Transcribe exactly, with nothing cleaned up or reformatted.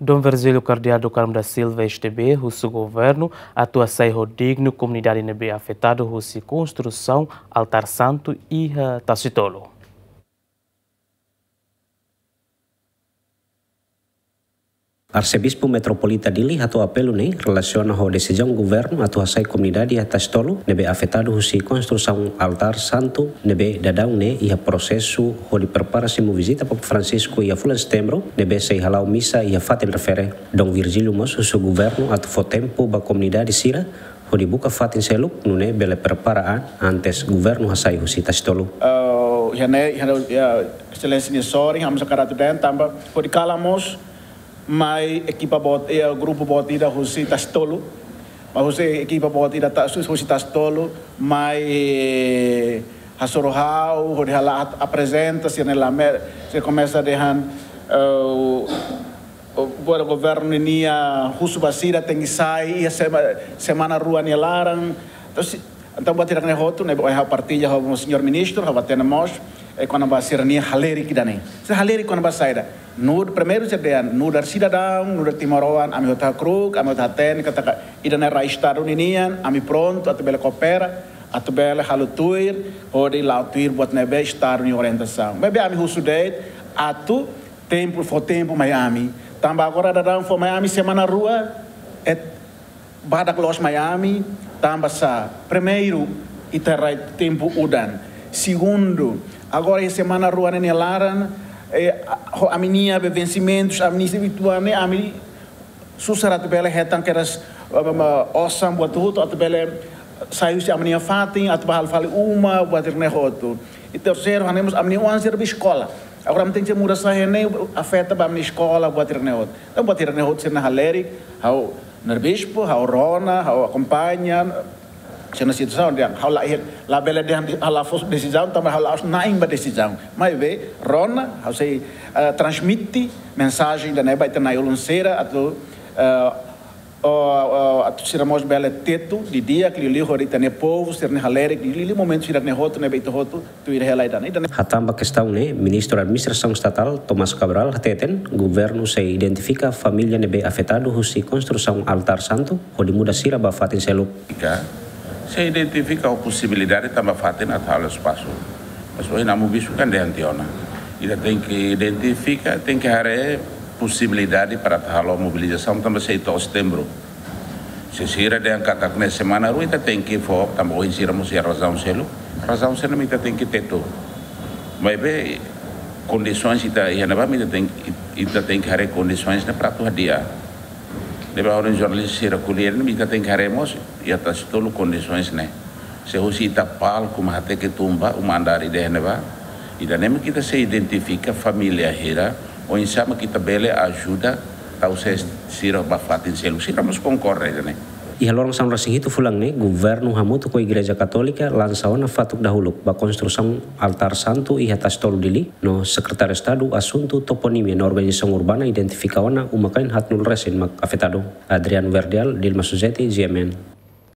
Dom Virgílio Cardeal do Carmo da Silva, S D B, husu governu atu hasai ho dignu komunidade ne'ebé afetadu husi konstrusaun altár santu iha Tasitolu. Arsebispu Metropolita Dili hato'o apelu ne'e relasiona ho desizaun governu atu hasai komunidade iha Tasitolu ne'ebé afetadu husi konstrusaun altár santu ne'ebé daudaun ne'e iha prosesu hodi prepara simu vizita Papa Francisco iha fulan Setembru ne'ebé sei hala'o misa iha fatin refere. Dom Virgílio mós husu governu atu fó tempu ba komunidade sira hodi buka fatin seluk nune'e bele prepara an antes governu hasai husi Tasitolu. Eh, iha ne'e, iha ne'e, ya, Exelénsia nia sorin, ha'u mós hakarak atu dehan tanba hodi kalan mós mai ekipa boot, ya, grupu boot ida husi Tasitolu. Mai husi ekipa boot ida ta, husi Tasitolu, mai, eh, hasoru ha'u, hodi hala'o aprezenta, sira-nia lame, sira komesa dehan, eh, o, buat governu ninia husu ba sira tenke sai iha sema-, semana rua nia laran. Entaun, se, entaun buat hirak-ne'e hotu, ne'ebé ohin ha'u partilla ho señór ministru, ha'u hatene mós, eh, kona-ba sira-nia halerik ida-ne'e. Sira halerik kona-ba saida? Nu'udar, primeiru sira dehan, nu'udar sidadaun, nu'udar timoroan, ami hotu hakru'uk, ami hotu hatene katak ida-ne'e rai Estadu ninian, ami prontu atu bele koopera, atu bele halo tuir, hodi la'o tuir buat ne'ebé Estadu nia orientasaun. Maibé ami husu de'it, atu tempu, fó tempu mai ami. Tanba agora daudaun fó mai ami semana rua, eh, badak loos mai ami, tanba sá? Primeiru, ita rai tempu udan. Segundu, agora iha semana rua ne'e nia laran, eh, ho ami-nia be vensimentus, ami-nia servisu ne'e, ami susar atu bele hetan kedas, eh, osan buat hotu atu bele sai husi ami-nia fatin, atu bá halo fali uma, buat hirak-ne'e hotu. I terseiru, hanesan mós ami-nia oan sira be eskola. Agora ami tenke muda sai ne'e afeta ba ami-nia eskola, buat hirak-ne'e hotu. Entaun buat hirak-ne'e hotu sira-nia halerik, ha'u nu'udar bispu, ha'u rona, ha'u akompaña, sira-nia situasaun, dehan, ha'u la, labele dehan, ha'u la fó desizaun, tanba ha'u la'ós na'in ba desizaun. Maibé, rona, ha'u sei, eh, transmite mensajen ida-ne'e ba ita na'i-ulun sira, atu, eh, o, o, atu sira mós bele tetu didi'ak liuliu hodi ita-nia povu, sira-nia halerik, liuliu momentu sira-ne'e hotu, ne'ebé ita hotu tuir hela ida-ne'e. Ida-ne'e. Hatán ba kestaun ne'e, Ministru Administrasaun Estatal, Tomás Cabral, hateten, governu sei identifika família ne'ebé afetadu husi konstrusaun altár santu, hodi muda sira ba fatin seluk. Ika, sei identifika ho posibilidade tanba fatin atu halo espasu. Mas ohin ami bispu kan dehan tiha ona. Ita tenke identifika, tenke haree posibilidade para atu halo mobilizasaun tanba sei to'o Setembru. Se sira dehan katak ne'e semana rua ita tenke fó, tanba ohin sira mós iha razaun seluk. Razaun sira-ne'e mak ita tenke tetu. Maibé kondisoens ita iha ne'ebá mak ita tenke, ita tenke haree kondisoens ne'e para atu hadi'a. Ne'ebé ohin jornalista sira ko'alia ne'e mak ita tenke haree mós, iha Tasitolu kondisoens ne'e. Se husi ita palku mak hateke tun ba, uma andar ida iha ne'ebá. Ida-ne'e mak ita sei identifika família hira, oinsá mak ita bele ajuda tau sé sira ba fatin seluk, sira mós konkorda ida-ne'e. Iha loron sanulu-resin-hitu fulan ne'e, governu hamutuk ho Igreja Katólika lansa ona fatuk dahuluk ba konstrusaun altár santu iha Tasitolu Dili, no Sekretáriu Estadu Asuntu Toponímia no Organizasaun Urbana identifika ona uma-kain haatnulu resin mak afetadu. Adriano Verdial, Dilma Suzeti, G M N.